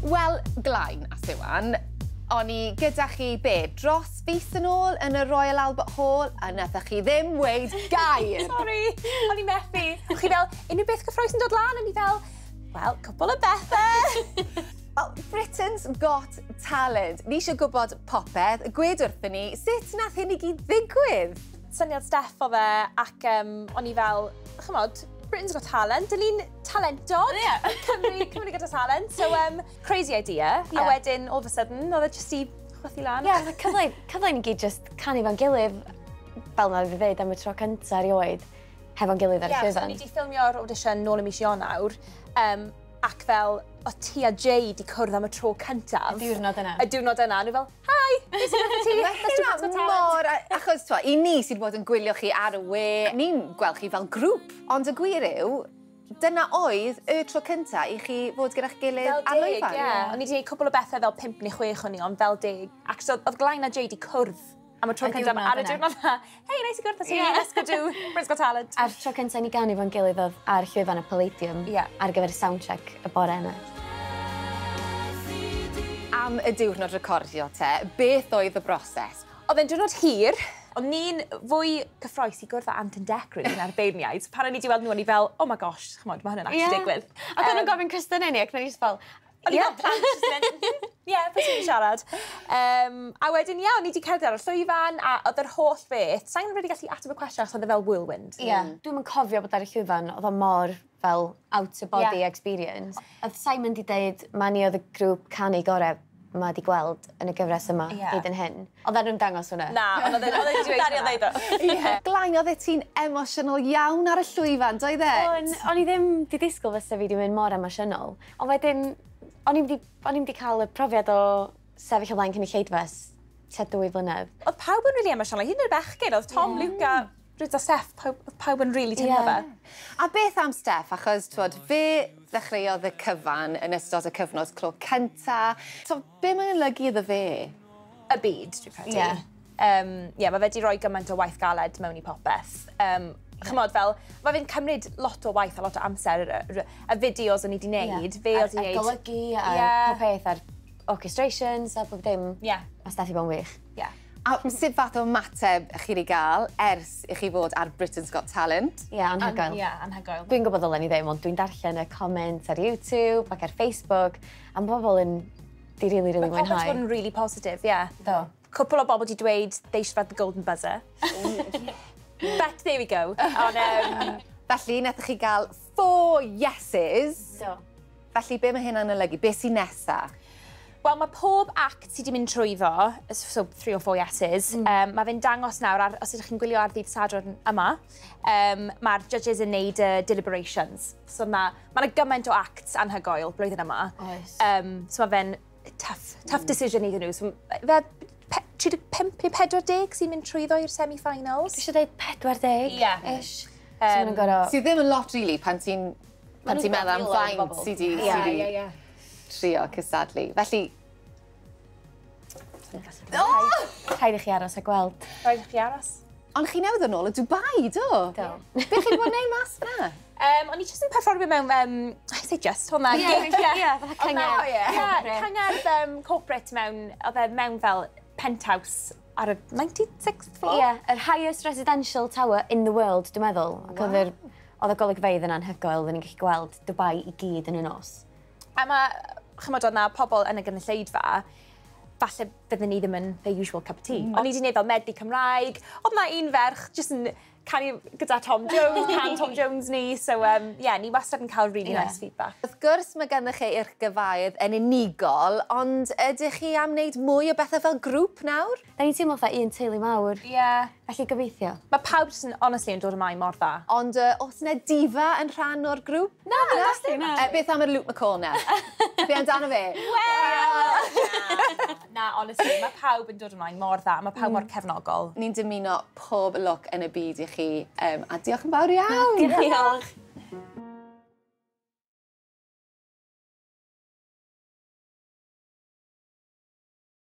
Wel, Glain a Siwan, o'n i gyda chi be, dros fis yn ôl yn y Royal Albert Hall, a nathoch chi ddim weud gair. Sorry, o'n i methu. O'ch chi fel, unrhyw beth cyffrous yn dod lan? O'n i fel, wel, cwpl o bethau. Wel, Britain's Got Talent. Ni eisiau gwybod popeth. Gwed wrthyn ni, sut nath hyn i gyd ddigwydd? Syniad Steff o fe, ac o'n i fel, chymod, Britain's Got Talent, dyn ni'n talentog. Cymru gyda talent. So, crazy idea. A wedyn, all of a sudden, oedd e jyst i chwythu lan. Ie, yeah, cyfle i ni gyd just canu fo'n gilydd, fel na fi ddeud am y tro cyntaf erioed, hefo'n gilydd ar y Ie, so llwyfan. ni wedi ffilmio'r audition nôl ym mis Ionawr, ac fel, o ti a Jay di cwrdd am y tro cyntaf. Y diwrnod yna. Y diwrnod yna. A nhw fel, "Hi, beth sy'n gyda ti? Mae Let's do hynna Britain's Got Talent." mor. Achos, twa, i ni sydd bod yn gwylio chi ar y we, ni'n gweld chi fel grŵp. Ond y gwir yw, dyna oedd y tro cynta i chi fod gyda'ch gilydd Fel ar 10, lwyfan. ie. O'n i wedi gwneud cwpl o bethau fel pump neu chwech o'n i, ond fel 10. Ac so, oedd Glain a Jay di cwrdd am y tro Y cyntaf diwrnod ar y yna. diwrnod yna. "Hey, nice i gwrdd â ti, let's go do Britain's Got Talent." A'r tro cyntaf ni ganu fo'n gilydd oedd ar llwyfan y Palladium ar gyfer y soundcheck y bore yna. Am y diwrnod recordio te, beth oedd y broses? Oedd e'n diwrnod hir. O'n ni'n fwy cyffroes i gwrdd â Ant and Dec, really, na'r beirniaid. Pan o'n i wedi weld nhw, o'n i fel, "Oh my gosh, chymod, mae hwnna'n actually digwydd." Ac o'n nhw'n gofyn cwestiynau ni, ac o'n i just fel, O'n i fel plant jyst yn mynd, "Ie, pwy sy'n siarad?" A wedyn, ie, o'n i wedi cerdded ar y llwyfan, a oedd yr holl beth, sa'n really gallu ateb y cwestiwn achos oedd e fel whirlwind. Ie. Dwi'm yn cofio bod ar y llwyfan, oedd o mor fel out of body experience. Oedd Simon di deud, ma ni oedd y grŵp canu gorau ma di gweld yn y gyfres yma hyd yn hyn. Oedd nhw'n dangos hwnna? Na, ond oedd e wedi dweud hwnna. Ie. Glain, oedd ti'n emosiynol iawn ar y llwyfan, doedd e? O'n i ddim di disgwyl fysa fi di mynd mor emosiynol. Ond wedyn, o'n i'm di cael y profiad o sefyll o flaen cynulleidfa ers tua 2 flynedd. Oedd pawb yn really emosiynol, hyd yn oed bechgyn, oedd Tom, Luke a Rhys a Steff, oedd pawb yn really teimlo fe. A beth am Steff? Achos, twod, fe ddechreuodd y cyfan yn ystod y cyfnod clo cynta. So, be mae'n olygu iddo fe? Y byd, dwi'n credu. Yeah, mae fe wedi rhoi gymaint o waith galed mewn i popeth. Chymod, fel, mae fe'n cymryd lot o waith a lot o amser, y fideos o'n i wedi wneud, fe oedd wedi A'r wneud. golygu, a'r pob peth, a'r orchestrations a bob dim. Mae Steff i bod yn wych. A sut fath o ymateb chi wedi gael ers i chi fod ar Britain's Got Talent? Ie, yeah, anhygoel. Ie, yeah, anhygoel. Dwi'n gwybod ddylen ni ddim, ond dwi'n darllen y comments ar YouTube ac ar Facebook, a mae bobl yn di really, really Mae pobl wedi mwynhau. bod yn really positive, ie. Yeah. Do. Cwpl o bobl wedi dweud they should have had the golden buzzer. But there we go. Ond, Felly, nethoch chi gael four yeses. Do. Felly, be mae hynna'n olygu? Be sy'n nesa? Wel, mae pob act sydd wedi mynd trwyddo, so three or four yeses, mae fe'n dangos nawr, os ydych chi'n gwylio ar ddydd Sadwrn yma, mae'r judges yn neud y deliberations. So mae gymaint o acts anhygoel blwyddyn yma. Oes. So mae fe'n tough, tough decision iddyn nhw. So, fe 35 neu 40 sy'n mynd trwyddo i'r semi-finals. Dwi eisiau dweud 40 Ie. ish. So maen nhw'n gorfod. Sydd ddim yn lot, really, pan ti'n nhw'n meddwl am miloedd o faint bobl. sydd wedi sy 'di ie. trio cystadlu. Felly, Rhaid i chi aros a gweld. Rhaid i chi aros. Ond chi newydd yn ôl o Dubai, do? Do. Be chi'n bod yn neud mas yna? O'n i just yn perfformio mewn, I say just, hwnna. Ie, ie, fatha cyngerdd. Ie, cyngerdd corporate mewn, oedd e mewn fel penthouse ar y 96th floor. Ie, yeah, yr highest residential tower in the world, dwi'n meddwl. Ac oedd y golygfeydd yn anhygoel, oedden ni'n gallu gweld Dubai i gyd yn y nos. A mae, chymod, oedd na pobl yn y gynulleidfa, falle bydden ni ddim yn their usual cup of tea. O'n i wedi gwneud fel medley Cymraeg. Oedd na un ferch jyst yn canu gyda Tom Jones, can Tom Jones ni. So, yeah, ni wastad yn cael really nice feedback. Wrth gwrs mae gennych chi eich gyrfaoedd yn unigol, ond ydych chi am wneud mwy o bethau fel grŵp nawr? Da ni'n teimlo fatha un teulu mawr. Felly gobeithio. Mae pawb jyst yn, honestly, yn dod ymlaen mor dda. Ond oes yna diva yn rhan o'r grŵp? Na, na, na. Beth am yr Luke McCall na? Be amdano fe? Na, honestly, mae pawb yn dod ymlaen mor dda. Mae pawb mor cefnogol. Ni'n dymuno pob lwc yn y byd i chi, a diolch yn fawr iawn. Diolch.